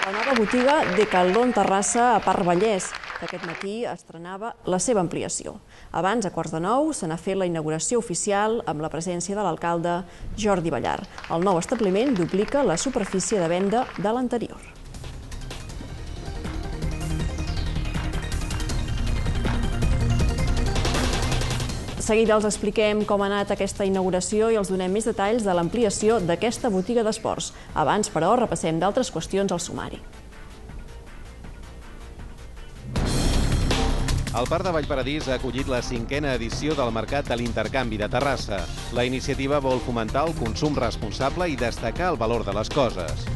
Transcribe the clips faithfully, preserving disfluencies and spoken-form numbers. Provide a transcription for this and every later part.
La nova botiga Decathlon Terrassa a Parc Vallès, que aquest matí estrenava la seva ampliació. Abans, a quarts de nou, se n'ha fet la inauguració oficial amb la presència de l'alcalde Jordi Ballar. El nou establiment duplica la superfície de venda de l'anterior. De seguida els expliquem com ha anat aquesta inauguració i els donem més detalls de l'ampliació d'aquesta botiga d'esports. Abans, però, repassem d'altres qüestions al sumari. El Parc de Vallparadís ha acollit la cinquena edició del Mercat de l'Intercanvi de Terrassa. La iniciativa vol fomentar el consum responsable i destacar el valor de les coses.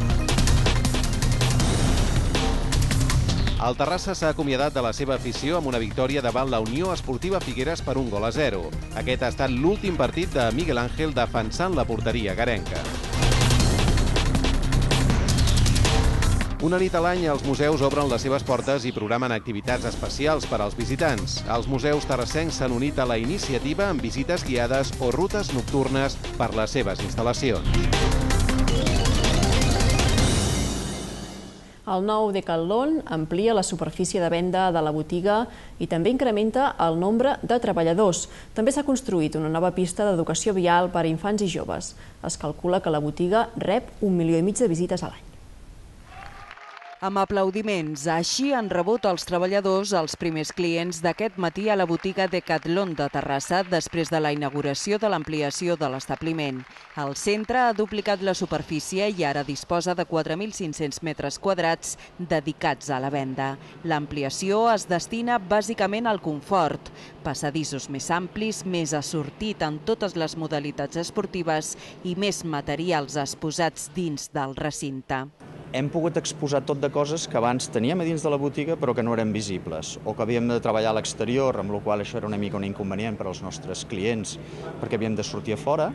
El Terrassa s'ha acomiadat de la seva afició amb una victòria davant la Unió Esportiva Figueres per un gol a zero. Aquest ha estat l'últim partit de Miguel Ángel defensant la porteria garenca. Una nit a l'any, els museus obren les seves portes i programen activitats especials per als visitants. Els museus terrassencs s'han unit a la iniciativa amb visites guiades o rutes nocturnes per les seves instal·lacions. El nou Decathlon amplia la superfície de venda de la botiga i també incrementa el nombre de treballadors. També s'ha construït una nova pista d'educació vial per a infants i joves. Es calcula que la botiga rep un milió i mig de visites a l'any. Amb aplaudiments, així han rebut els treballadors els primers clients d'aquest matí a la botiga Decathlon de Terrassa després de la inauguració de l'ampliació de l'establiment. El centre ha duplicat la superfície i ara disposa de quatre mil cinc-cents metres quadrats dedicats a la venda. L'ampliació es destina bàsicament al confort, passadissos més amplis, més assortit en totes les modalitats esportives i més materials exposats dins del recinte. Hem pogut exposar tot de coses que abans teníem a dins de la botiga però que no eren visibles o que havíem de treballar a l'exterior, amb la qual això era una mica un inconvenient per als nostres clients perquè havíem de sortir a fora.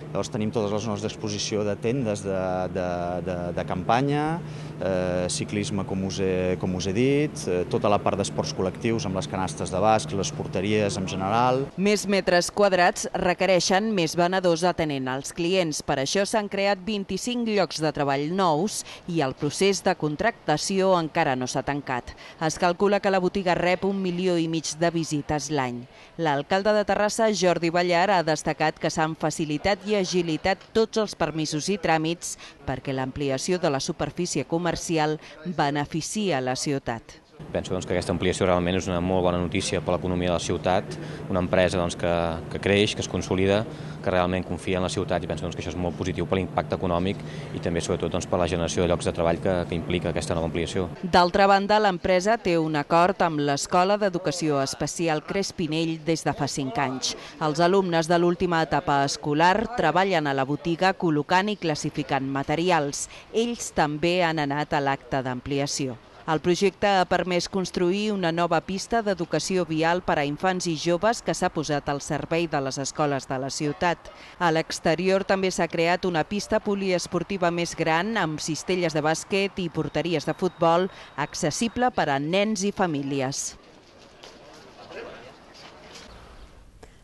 Llavors tenim totes les zones d'exposició de tendes de, de, de, de campanya, eh, ciclisme, com us, he, com us he dit, eh, tota la part d'esports col·lectius amb les canastes de basc, les porteries en general. Més metres quadrats requereixen més venedors atenent als clients. Per això s'han creat vint-i-cinc llocs de treball nous i el El procés de contractació encara no s'ha tancat. Es calcula que la botiga rep un milió i mig de visites l'any. L'alcalde de Terrassa, Jordi Ballar, ha destacat que s'han facilitat i agilitat tots els permisos i tràmits perquè l'ampliació de la superfície comercial beneficia la ciutat. Penso doncs, que aquesta ampliació realment és una molt bona notícia per l'economia de la ciutat, una empresa doncs, que, que creix, que es consolida, que realment confia en la ciutat i penso doncs, que això és molt positiu per l'impacte econòmic i també sobretot doncs, per la generació de llocs de treball que, que implica aquesta nova ampliació. D'altra banda, l'empresa té un acord amb l'Escola d'Educació Especial Crespinell des de fa cinc anys. Els alumnes de l'última etapa escolar treballen a la botiga col·locant i classificant materials. Ells també han anat a l'acte d'ampliació. El projecte ha permès construir una nova pista d'educació vial per a infants i joves que s'ha posat al servei de les escoles de la ciutat. A l'exterior també s'ha creat una pista poliesportiva més gran amb cistelles de bàsquet i porteries de futbol accessible per a nens i famílies.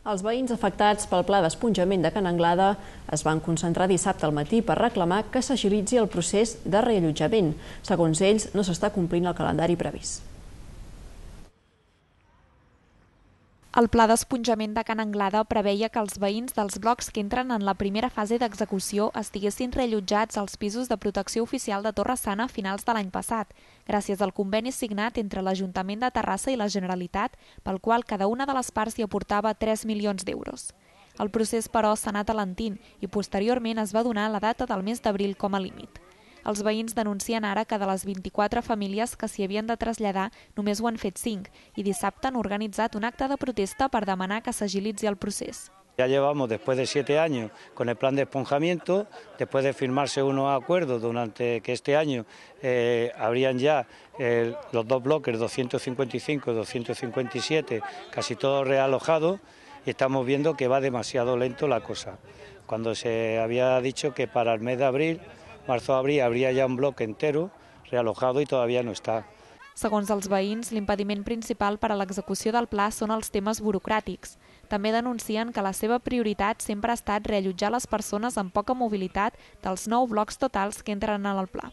Els veïns afectats pel pla d'esponjament de Can Anglada es van concentrar dissabte al matí per reclamar que s'agilitzi el procés de reallotjament. Segons ells, no s'està complint el calendari previst. El pla d'esponjament de Can Anglada preveia que els veïns dels blocs que entren en la primera fase d'execució estiguessin reallotjats als pisos de protecció oficial de Torre-sana a finals de l'any passat, gràcies al conveni signat entre l'Ajuntament de Terrassa i la Generalitat, pel qual cada una de les parts hi aportava tres milions d'euros. El procés, però, s'ha anat alentint i posteriorment es va donar la data del mes d'abril com a límit. Els veïns denuncien ara que de les vint-i-quatre famílies que s'hi havien de traslladar només ho han fet cinc i dissabte han organitzat un acte de protesta per demanar que s'agilitzi el procés. Ya llevamos, después de siete años, con el plan de esponjamiento, después de firmarse unos acuerdos durante que este año eh, habrían ya eh, los dos bloques, doscientos cincuenta y cinco y doscientos cincuenta y siete, casi todos realojados, y estamos viendo que va demasiado lento la cosa. Cuando se había dicho que para el mes de abril, marzo-abril, habría ya un bloc entero realojado i todavía no està. Segons els veïns, l'impediment principal per a l'execució del pla són els temes burocràtics. També denuncien que la seva prioritat sempre ha estat reallotjar les persones amb poca mobilitat dels nou blocs totals que entren en el pla.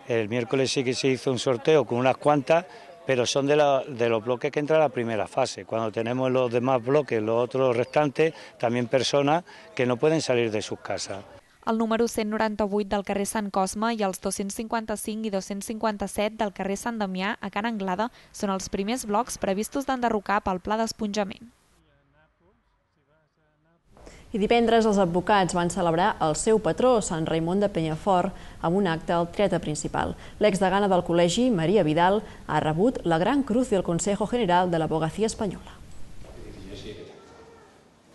El miércoles sí que se hizo un sorteo con unas cuantas, pero son de, la, de los bloques que entran a la primera fase. Cuando tenemos los demás bloques, los otros restantes, también personas que no pueden salir de sus casas. El número cent noranta-vuit del carrer Sant Cosme i els dos-cents cinquanta-cinc i dos-cents cinquanta-set del carrer Sant Damià a Can Anglada són els primers blocs previstos d'enderrocar pel pla d'esponjament. I divendres els advocats van celebrar el seu patró, Sant Raimon de Penyafort, amb un acte al teatre principal. L'exdegana del col·legi, Maria Vidal, ha rebut la Gran Cruz del Consejo General de l'Abogacía Espanyola.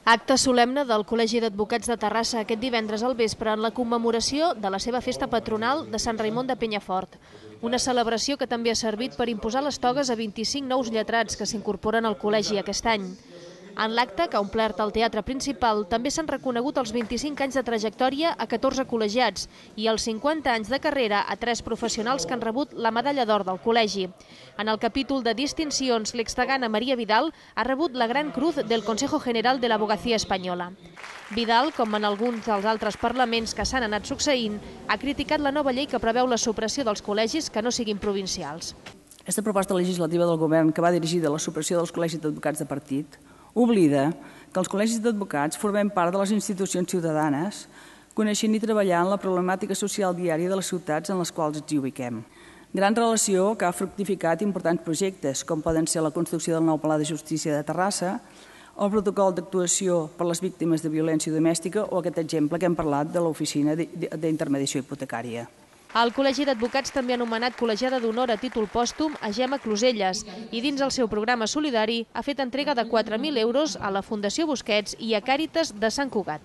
Acte solemne del Col·legi d'Advocats de Terrassa aquest divendres al vespre en la commemoració de la seva festa patronal de Sant Raimon de Penyafort. Una celebració que també ha servit per imposar les togues a vint-i-cinc nous lletrats que s'incorporen al col·legi aquest any. En l'acte, que ha omplert el teatre principal, també s'han reconegut els vint-i-cinc anys de trajectòria a catorze col·legiats i els cinquanta anys de carrera a tres professionals que han rebut la medalla d'or del col·legi. En el capítol de distincions, l'exdegana Maria Vidal ha rebut la Gran Cruz del Consejo General de l'Abogacía Espanyola. Vidal, com en alguns dels altres parlaments que s'han anat succeint, ha criticat la nova llei que preveu la supressió dels col·legis que no siguin provincials. Aquesta proposta legislativa del govern que va dirigida a la supressió dels col·legis d'advocats de partit oblida que els col·legis d'advocats formem part de les institucions ciutadanes, coneixent i treballant la problemàtica social diària de les ciutats en les quals ens hi ubiquem. Gran relació que ha fructificat importants projectes, com poden ser la construcció del nou Palau de Justícia de Terrassa, el protocol d'actuació per les víctimes de violència domèstica o aquest exemple que hem parlat de l'oficina d'intermediació hipotecària. El Col·legi d'Advocats també ha anomenat col·legiada d'honor a títol pòstum a Gemma Closelles i dins el seu programa solidari ha fet entrega de quatre mil euros a la Fundació Busquets i a Càritas de Sant Cugat.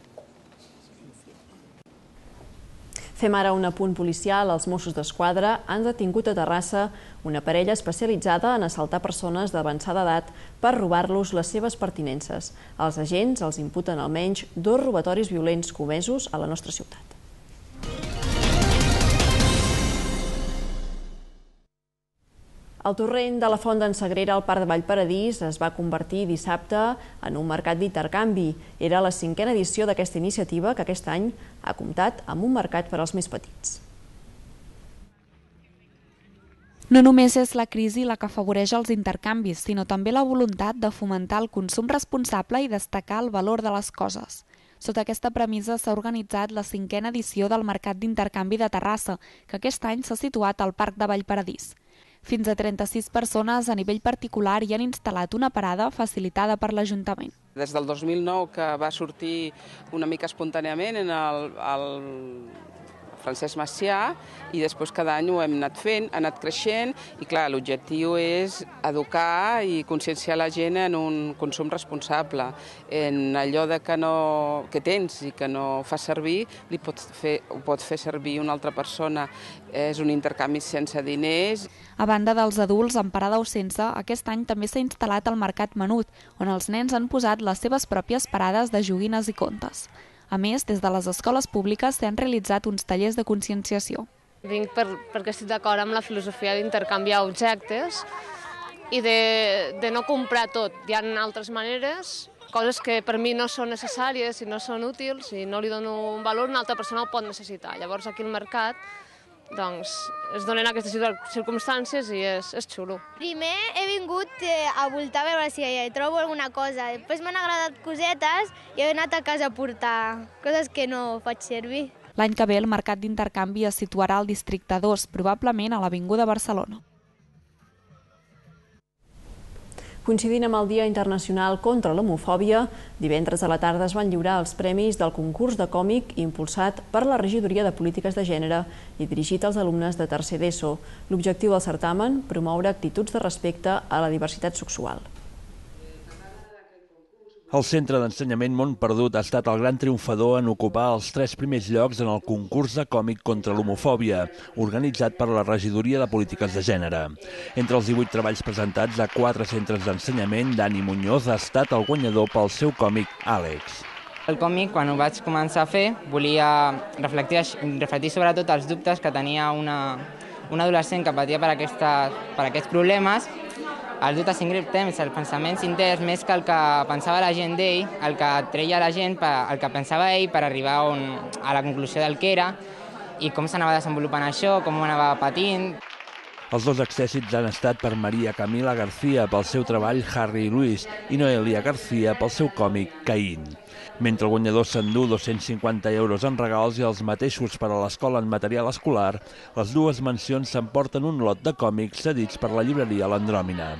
Fem ara un apunt policial. Els Mossos d'Esquadra han detingut a Terrassa una parella especialitzada en assaltar persones d'avançada edat per robar-los les seves pertinences. Els agents els imputen almenys dos robatoris violents comesos a la nostra ciutat. El torrent de la Font d'en Sagrera al Parc de Vallparadís es va convertir dissabte en un mercat d'intercanvi. Era la cinquena edició d'aquesta iniciativa que aquest any ha comptat amb un mercat per als més petits. No només és la crisi la que afavoreix els intercanvis, sinó també la voluntat de fomentar el consum responsable i destacar el valor de les coses. Sota aquesta premissa s'ha organitzat la cinquena edició del Mercat d'Intercanvi de Terrassa, que aquest any s'ha situat al Parc de Vallparadís. Fins a trenta-sis persones a nivell particular hi han instal·lat una parada facilitada per l'Ajuntament. Des del dos mil nou que va sortir una mica espontàniament en el, el Francesc Macià i després cada any ho hem anat fent, ha anat creixent i clar, l'objectiu és educar i conscienciar la gent en un consum responsable, en allò de que, no, que tens i que no fas servir, li pots fer, ho pot fer servir una altra persona. És un intercanvi sense diners. A banda dels adults amb parada o sense, aquest any també s'ha instal·lat el Mercat Menut, on els nens han posat les seves pròpies parades de joguines i contes. A més, des de les escoles públiques s'han realitzat uns tallers de conscienciació. Vinc per, perquè estic d'acord amb la filosofia d'intercanviar objectes i de, de no comprar tot. Hi ha altres maneres, coses que per mi no són necessàries i no són útils i no li dono un valor, una altra persona el pot necessitar. Llavors aquí al mercat doncs, es donen aquestes circumstàncies i és, és xulo. Primer he vingut eh, a voltar a veure si hi trobo alguna cosa. Després m'han agradat cosetes i he anat a casa a portar coses que no faig servir. L'any que ve el mercat d'intercanvi es situarà al districte dos, probablement a l'Avinguda Barcelona. Coincidint amb el Dia Internacional contra l'Homofòbia, divendres a la tarda es van lliurar els premis del concurs de còmic impulsat per la Regidoria de Polítiques de Gènere i dirigit als alumnes de tercer d'ESO. L'objectiu del certamen, promoure actituds de respecte a la diversitat sexual. El Centre d'Ensenyament Mont Perdut ha estat el gran triomfador en ocupar els tres primers llocs en el concurs de còmic contra l'homofòbia, organitzat per la Regidoria de Polítiques de Gènere. Entre els divuit treballs presentats a quatre centres d'ensenyament, Dani Muñoz ha estat el guanyador pel seu còmic Àlex. El còmic, quan ho vaig començar a fer, volia reflectir, reflectir sobretot els dubtes que tenia una, una adolescent que patia per, aquesta, per aquests problemes, els dubtes temps, els pensaments interns, més que el que pensava la gent d'ell, el que treia la gent, el que pensava ell per arribar on, a la conclusió del que era. i com s'anava desenvolupant això, com ho anava patint. Els dos accèssits han estat per Maria Camila García pel seu treball Harry i Luis i Noelia García pel seu còmic Caín. Mentre el guanyador s'endú dos-cents cinquanta euros en regals i els mateixos per a l'escola en material escolar, les dues mencions s'emporten un lot de còmics cedits per la llibreria L'Andròmina.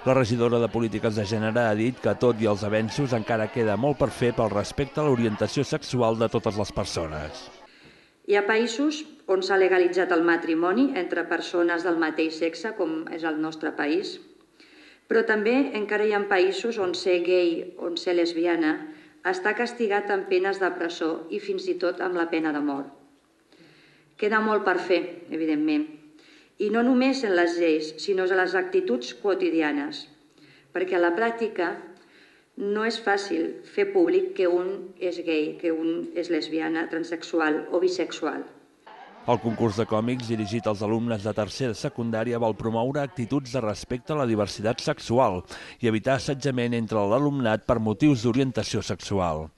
La regidora de Polítiques de Gènere ha dit que, tot i els avenços, encara queda molt per fer pel respecte a l'orientació sexual de totes les persones. Hi ha països on s'ha legalitzat el matrimoni entre persones del mateix sexe, com és el nostre país, però també encara hi ha països on ser gay, on ser lesbiana, està castigat amb penes de presó i fins i tot amb la pena de mort. Queda molt per fer, evidentment, i no només en les lleis, sinó en les actituds quotidianes, perquè a la pràctica no és fàcil fer públic que un és gay, que un és lesbiana, transexual o bisexual. El concurs de còmics dirigit als alumnes de tercer de secundària vol promoure actituds de respecte a la diversitat sexual i evitar assetjament entre l'alumnat per motius d'orientació sexual.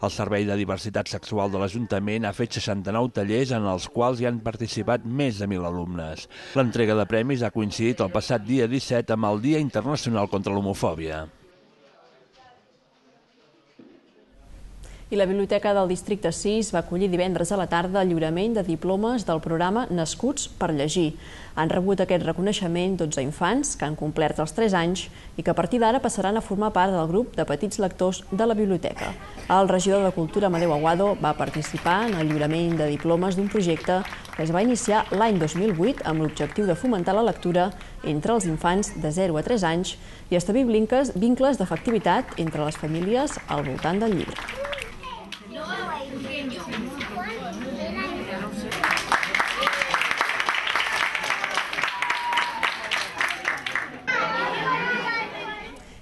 El Servei de Diversitat Sexual de l'Ajuntament ha fet seixanta-nou tallers en els quals hi han participat més de mil alumnes. L'entrega de premis ha coincidit el passat dia disset amb el Dia Internacional contra l'Homofòbia. I la Biblioteca del Districte sis va acollir divendres a la tarda el lliurament de diplomes del programa Nascuts per Llegir. Han rebut aquest reconeixement dotze infants que han complert els tres anys i que a partir d'ara passaran a formar part del grup de petits lectors de la biblioteca. El regidor de Cultura, Amadeu Aguado, va participar en el lliurament de diplomes d'un projecte que es va iniciar l'any dos mil vuit amb l'objectiu de fomentar la lectura entre els infants de zero a tres anys i establir vincles d'efectivitat entre les famílies al voltant del llibre.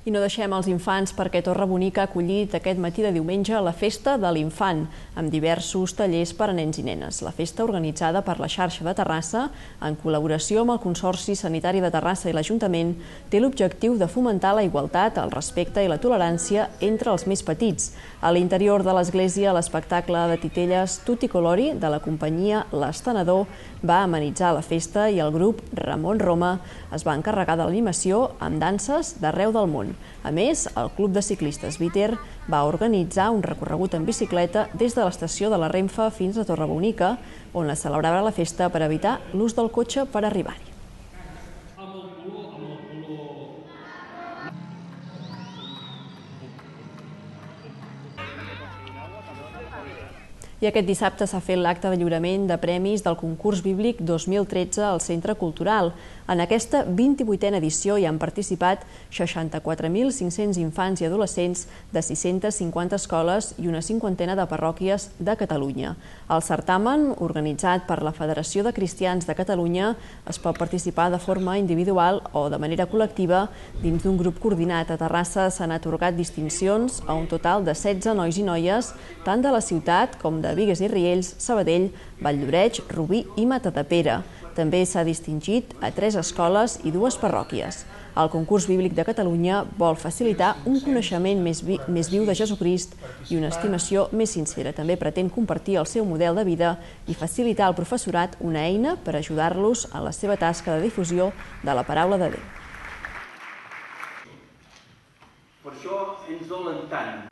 I no deixem els infants perquè Torre Bonica ha acollit aquest matí de diumenge la Festa de l'Infant, amb diversos tallers per a nens i nenes. La festa, organitzada per la xarxa de Terrassa, en col·laboració amb el Consorci Sanitari de Terrassa i l'Ajuntament, té l'objectiu de fomentar la igualtat, el respecte i la tolerància entre els més petits. A l'interior de l'església, l'espectacle de titelles Tutti Colori de la companyia L'Estenedor va amenitzar la festa i el grup Ramon Roma es va encarregar de l'animació amb danses d'arreu del món. A més, el Club de Ciclistes Viter va organitzar un recorregut en bicicleta des de l'estació de la Renfe fins a Torre Bonica, on es celebrava la festa per evitar l'ús del cotxe per arribar-hi. I aquest dissabte s'ha fet l'acte de lliurament de premis del concurs bíblic dos mil tretze al Centre Cultural. En aquesta vint-i-vuitena edició hi han participat seixanta-quatre mil cinc-cents infants i adolescents de sis-centes cinquanta escoles i una cinquantena de parròquies de Catalunya. Al certamen, organitzat per la Federació de Cristians de Catalunya, es pot participar de forma individual o de manera col·lectiva dins d'un grup coordinat. A Terrassa s'han atorgat distincions a un total de setze nois i noies, tant de la ciutat com de de Bigues i Riells, Sabadell, Valldoreix, Rubí i Matadepera. També s'ha distingit a tres escoles i dues parròquies. El concurs bíblic de Catalunya vol facilitar un coneixement més, vi més viu de Jesucrist i una estimació més sincera. També pretén compartir el seu model de vida i facilitar al professorat una eina per ajudar-los en la seva tasca de difusió de la paraula de Déu. Per això ens dolen tant.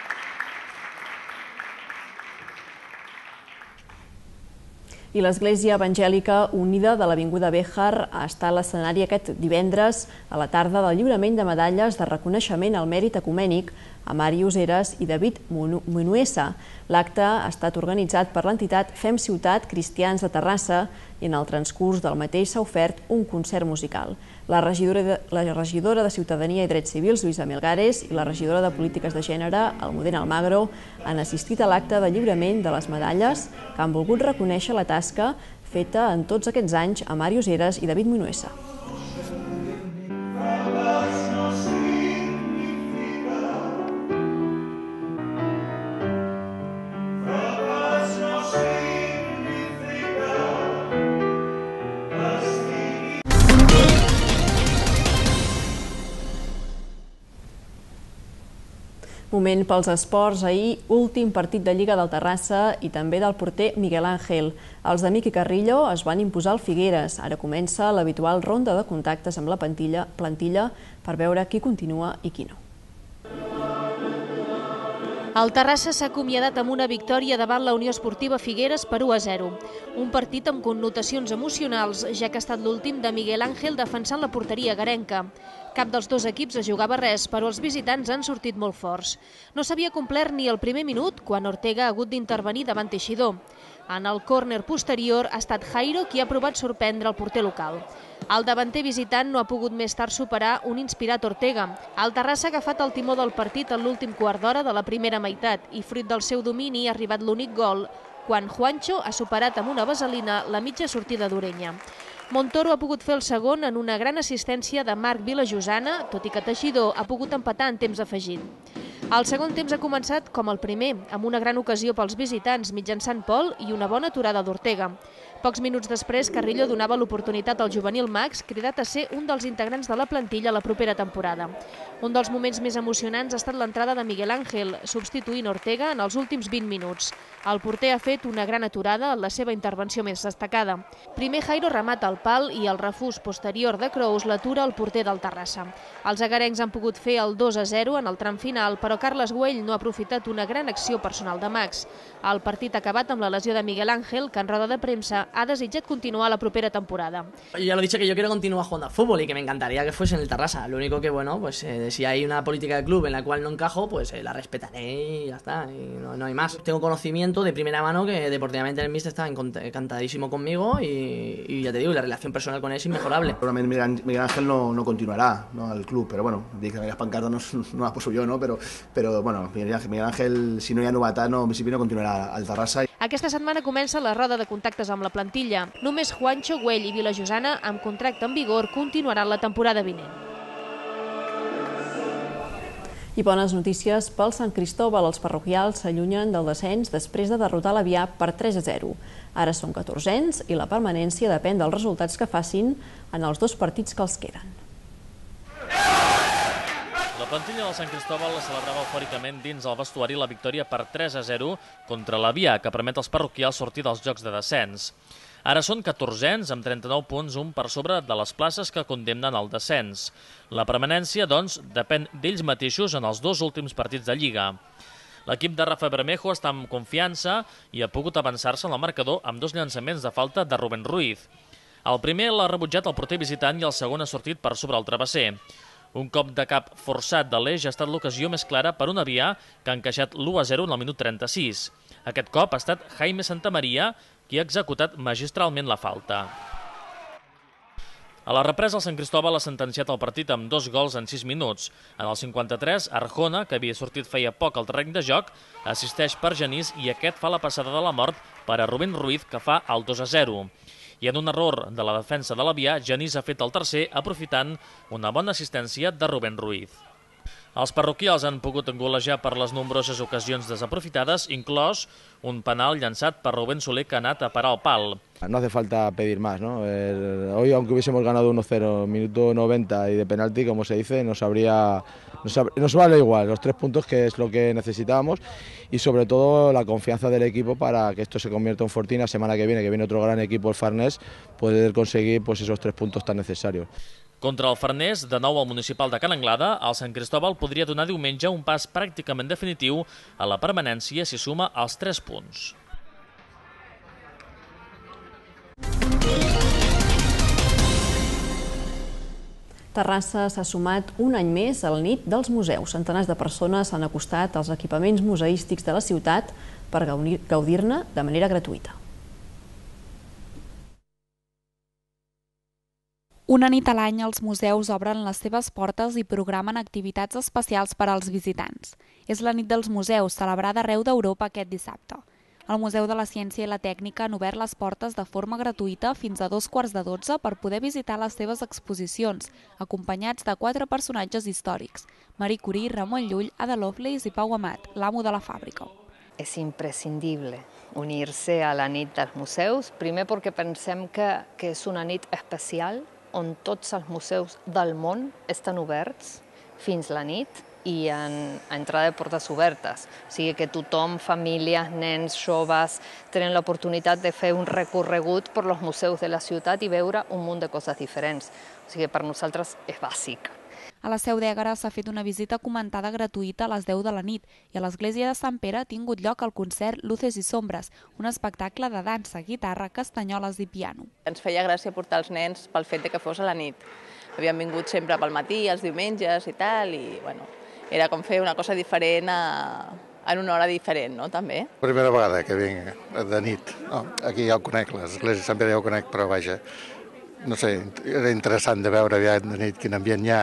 I l'Església Evangèlica Unida de l'Avinguda Béjar està a l'escenari aquest divendres a la tarda del lliurament de medalles de reconeixement al mèrit ecumènic a Màrius Heras i David Munuesa. L'acte ha estat organitzat per l'entitat Fem Ciutat Cristians de Terrassa i en el transcurs del mateix s'ha ofert un concert musical. La regidora de, la regidora de Ciutadania i Drets Civils, Lluïsa Melgares, i la regidora de Polítiques de Gènere, Almudena Almagro, han assistit a l'acte de lliurament de les medalles que han volgut reconèixer la tasca feta en tots aquests anys a Màrius Heras i David Munuesa. Moment pels esports. Ahir, últim partit de Lliga del Terrassa i també del porter Miguel Ángel. Els de Miqui Carrillo es van imposar al Figueres. Ara comença l'habitual ronda de contactes amb la plantilla, plantilla per veure qui continua i qui no. El Terrassa s'ha acomiadat amb una victòria davant la Unió Esportiva Figueres per u a zero. Un partit amb connotacions emocionals, ja que ha estat l'últim de Miguel Ángel defensant la porteria garenca. Cap dels dos equips es jugava res, però els visitants han sortit molt forts. No s'havia complert ni el primer minut quan Ortega ha hagut d'intervenir davant Teixidor. En el córner posterior ha estat Jairo qui ha provat sorprendre el porter local. El davanter visitant no ha pogut més tard superar un inspirat Ortega. El Terrassa ha agafat el timó del partit en l'últim quart d'hora de la primera meitat i, fruit del seu domini, ha arribat l'únic gol, quan Juancho ha superat amb una vaselina la mitja sortida d'Orenya. Montoro ha pogut fer el segon en una gran assistència de Marc Vilajosana, tot i que Teixidor ha pogut empatar en temps afegit. El segon temps ha començat com el primer, amb una gran ocasió pels visitants mitjançant Pol i una bona aturada d'Ortega. Pocs minuts després, Carrillo donava l'oportunitat al juvenil Max, cridat a ser un dels integrants de la plantilla la propera temporada. Un dels moments més emocionants ha estat l'entrada de Miguel Ángel, substituint Ortega en els últims vint minuts. El porter ha fet una gran aturada en la seva intervenció més destacada. Primer Jairo remata el pal i el refús posterior de Crous l'atura el porter del Terrassa. Els agarencs han pogut fer el dos a zero en el tram final, però Carles Güell no ha aprofitat una gran acció personal de Max. El partit ha acabat amb la lesió de Miguel Ángel, que en roda de premsa ha desitjat continuar la propera temporada. Ya lo he dicho que yo quiero continuar jugando a fútbol y que me encantaría que fuese en el Terrassa. Lo único que, bueno, pues eh, si hay una política de club en la cual no encajo, pues eh, la respetaré y ya está, y no, no hay más. Tengo conocimiento de primera mano que deportivamente el míster está encantadísimo conmigo y, y ya te digo, la relación personal con él es inmejorable. Seguramente Miguel Ángel no, no continuará, ¿no?, al club, pero bueno, dic que las pancartas no, no las puso yo, ¿no? Pero, pero bueno, Miguel Ángel, Miguel Ángel, si no hi ha novetat, no, en principi no continuarà al Terrassa. Aquesta setmana comença la roda de contactes amb la plantilla. Només Juancho, Güell i Vilajosana, amb contracte en vigor, continuaran la temporada vinent. I bones notícies pel Sant Cristóbal. Els parroquials s'allunyen del descens després de derrotar l'Avià per tres a zero. Ara són catorzens i la permanència depèn dels resultats que facin en els dos partits que els queden. La plantilla del Sant Cristóbal celebrava eufòricament dins el vestuari la victòria per tres a zero contra l'Avià, que permet als parroquials sortir dels jocs de descens. Ara són catorzens amb trenta-nou punts, un per sobre de les places que condemnen al descens. La permanència, doncs, depèn d'ells mateixos en els dos últims partits de Lliga. L'equip de Rafa Bermejo està amb confiança i ha pogut avançar-se en el marcador amb dos llançaments de falta de Rubén Ruiz. El primer l'ha rebutjat el porter visitant i el segon ha sortit per sobre el travesser. Un cop de cap forçat de l'Eix ha estat l'ocasió més clara per un Avià que ha encaixat l'u a zero en el minut trenta-sis. Aquest cop ha estat Jaime Santamaria qui ha executat magistralment la falta. A la represa, el Sant Cristóbal ha sentenciat el partit amb dos gols en sis minuts. En el cinquanta-tres, Arjona, que havia sortit feia poc al terreny de joc, assisteix per Genís i aquest fa la passada de la mort per a Rubén Ruiz, que fa el dos a zero. I en un error de la defensa de l'Avià, Genís ha fet el tercer aprofitant una bona assistència de Rubén Ruiz. Els parroquials han pogut golejar per les nombroses ocasions desaprofitades, inclòs un penal llançat per Rubén Soler que ha anat a parar el pal. No hace falta pedir más, ¿no? El, hoy, aunque hubiésemos ganado uno cero, minuto noventa y de penalti, como se dice, nos, habría, nos, nos vale igual los tres puntos, que es lo que necesitábamos, y sobre todo la confianza del equipo para que esto se convierta en fortín la semana que viene, que viene otro gran equipo, el Farnés, poder conseguir pues, esos tres puntos tan necesarios. Contra el Farnés, de nou al municipal de Can Anglada, el Sant Cristóbal podria donar diumenge un pas pràcticament definitiu a la permanència si suma els tres punts. Terrassa s'ha sumat un any més al nit dels museus. Centenars de persones s'han acostat als equipaments museístics de la ciutat per gaudir-ne de manera gratuïta. Una nit a l'any els museus obren les seves portes i programen activitats especials per als visitants. És la nit dels museus, celebrada arreu d'Europa aquest dissabte. El Museu de la Ciència i la Tècnica han obert les portes de forma gratuïta fins a dos quarts de dotze per poder visitar les seves exposicions, acompanyats de quatre personatges històrics: Marie Curie, Ramon Llull, Ada Lovelace i Pau Amat, l'amo de la fàbrica. És imprescindible unir-se a la nit dels museus, primer perquè pensem que, que és una nit especial on tots els museus del món estan oberts fins la nit. i en entrada de portes obertes. O sigui que tothom, famílies, nens, joves, tenen l'oportunitat de fer un recorregut per els museus de la ciutat i veure un munt de coses diferents. O sigui que per nosaltres és bàsic. A la Seu d'Ègara s'ha fet una visita comentada gratuïta a les deu de la nit i a l'església de Sant Pere ha tingut lloc el concert Luces i Sombres, un espectacle de dansa, guitarra, castanyoles i piano. Ens feia gràcia portar els nens pel fet que fos a la nit. Havien vingut sempre pel matí, els diumenges i tal, i bueno, era com fer una cosa diferent a, en una hora diferent, no, també. Primera vegada que vinc de nit. No, aquí ja ho conec, l'església de Sant Pere ja ho conec, però vaja, no sé, era interessant de veure aviat de nit quin ambient hi ha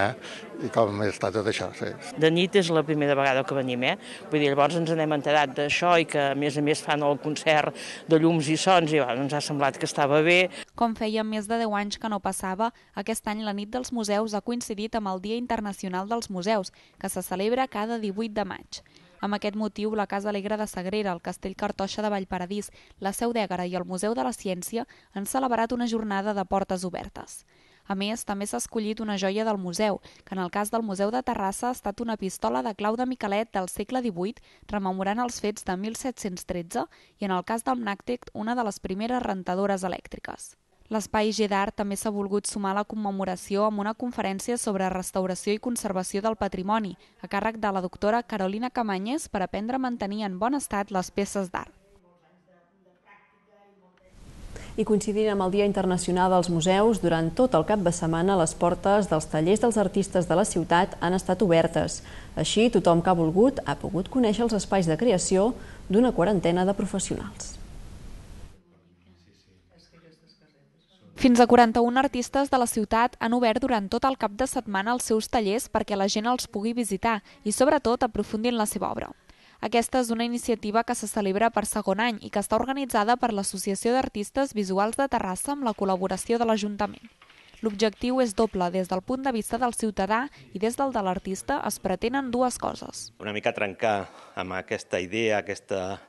i com està tot això. Sí. De nit és la primera vegada que venim, eh? Vull dir, llavors ens n'hem enterat d'això i que a més a més fan el concert de llums i sons i bueno, ens ha semblat que estava bé. Com feia més de deu anys que no passava, aquest any la nit dels museus ha coincidit amb el Dia Internacional dels Museus, que se celebra cada divuit de maig. Amb aquest motiu, la Casa Alegre de Sagrera, el Castell Cartoixa de Vallparadís, la Seu d'Ègara i el Museu de la Ciència han celebrat una jornada de portes obertes. A més, també s'ha escollit una joia del museu, que en el cas del Museu de Terrassa ha estat una pistola de clau de Miquelet del segle divuit, rememorant els fets de mil set-cents tretze, i en el cas del Nàctic, una de les primeres rentadores elèctriques. L'Espai G d'Art també s'ha volgut sumar a la commemoració amb una conferència sobre restauració i conservació del patrimoni, a càrrec de la doctora Carolina Camanyes, per aprendre a mantenir en bon estat les peces d'art. I coincidint amb el Dia Internacional dels Museus, durant tot el cap de setmana les portes dels tallers dels artistes de la ciutat han estat obertes. Així, tothom que ha volgut ha pogut conèixer els espais de creació d'una quarantena de professionals. Fins a quaranta-un artistes de la ciutat han obert durant tot el cap de setmana els seus tallers perquè la gent els pugui visitar i, sobretot, aprofundir en la seva obra. Aquesta és una iniciativa que se celebra per segon any i que està organitzada per l'Associació d'Artistes Visuals de Terrassa amb la col·laboració de l'Ajuntament. L'objectiu és doble, des del punt de vista del ciutadà i des del de l'artista es pretenen dues coses. Una mica trencar amb aquesta idea, aquesta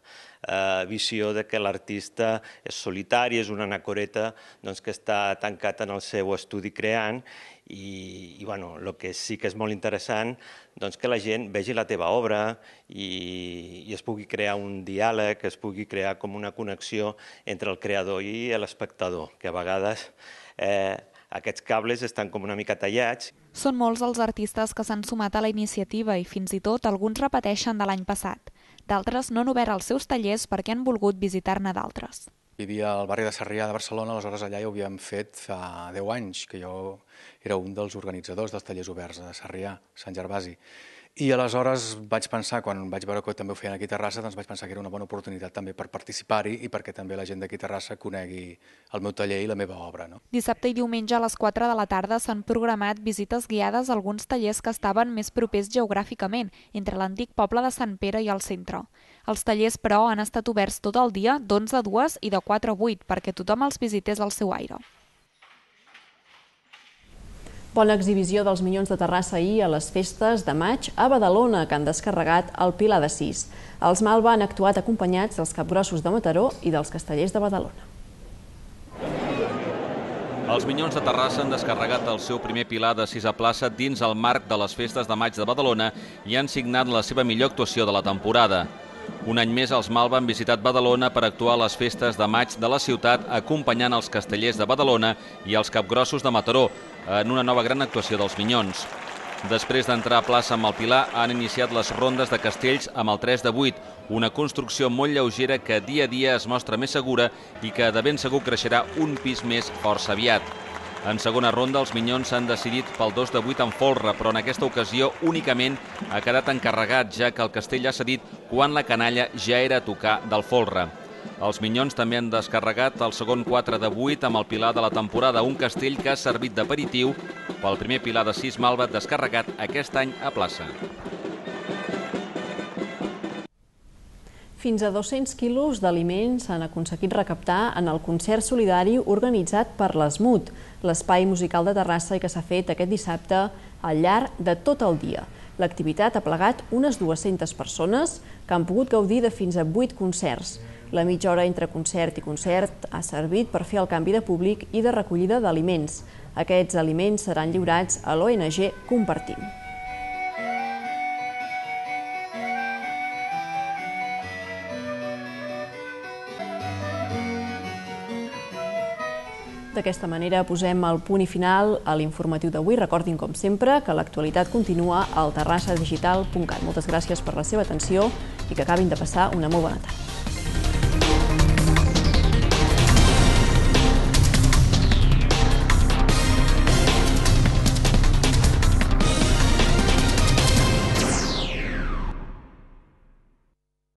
eh, visió de que l'artista és solitari, és una anacoreta doncs, que està tancat en el seu estudi creant i, i bueno, el que sí que és molt interessant doncs, que la gent vegi la teva obra i, i es pugui crear un diàleg, es pugui crear com una connexió entre el creador i l'espectador, que a vegades eh, aquests cables estan com una mica tallats. Són molts els artistes que s'han sumat a la iniciativa i fins i tot alguns repeteixen de l'any passat. D'altres no han obert els seus tallers perquè han volgut visitar-ne d'altres. Hi havia el barri de Sarrià de Barcelona, aleshores allà ja ho havíem fet fa deu anys, que jo era un dels organitzadors dels tallers oberts a Sarrià, Sant Gervasi. I aleshores vaig pensar, quan vaig veure que també ho feien aquí a Terrassa, doncs vaig pensar que era una bona oportunitat també per participar-hi i perquè també la gent d'aquí a Terrassa conegui el meu taller i la meva obra. No? Dissabte i diumenge a les quatre de la tarda s'han programat visites guiades a alguns tallers que estaven més propers geogràficament, entre l'antic poble de Sant Pere i el centre. Els tallers, però, han estat oberts tot el dia, d'onze a dues i de quatre a vuit, perquè tothom els visités al seu aire. Bona exhibició dels Minyons de Terrassa ahir a les festes de maig a Badalona, que han descarregat el Pilar de Sis. Els Malva han actuat acompanyats dels Capgrossos de Mataró i dels Castellers de Badalona. Els Minyons de Terrassa han descarregat el seu primer Pilar de Sis a plaça dins el marc de les festes de maig de Badalona i han signat la seva millor actuació de la temporada. Un any més, els Malva han visitat Badalona per actuar a les festes de maig de la ciutat, acompanyant els Castellers de Badalona i els Capgrossos de Mataró, en una nova gran actuació dels Minyons. Després d'entrar a plaça amb el Pilar, han iniciat les rondes de castells amb el tres de vuit, una construcció molt lleugera que dia a dia es mostra més segura i que de ben segur creixerà un pis més força aviat. En segona ronda, els Minyons s'han decidit pel dos de vuit en folre, però en aquesta ocasió únicament ha quedat encarregat, ja que el castell ha cedit quan la canalla ja era a tocar del folre. Els Minyons també han descarregat el segon quatre de vuit amb el Pilar de la temporada, un castell que ha servit d'aperitiu pel primer Pilar de Sis Malva descarregat aquest any a plaça. Fins a dos-cents quilos d'aliments s'han aconseguit recaptar en el concert solidari organitzat per l'Esmut, l'espai musical de Terrassa i que s'ha fet aquest dissabte al llarg de tot el dia. L'activitat ha plegat unes dues-centes persones que han pogut gaudir de fins a vuit concerts. La mitja hora entre concert i concert ha servit per fer el canvi de públic i de recollida d'aliments. Aquests aliments seran lliurats a l'O N G Compartim. D'aquesta manera posem el punt i final a l'informatiu d'avui. Recordin, com sempre, que l'actualitat continua al terrassa digital punt cat. Moltes gràcies per la seva atenció i que acabin de passar una molt bona tarda.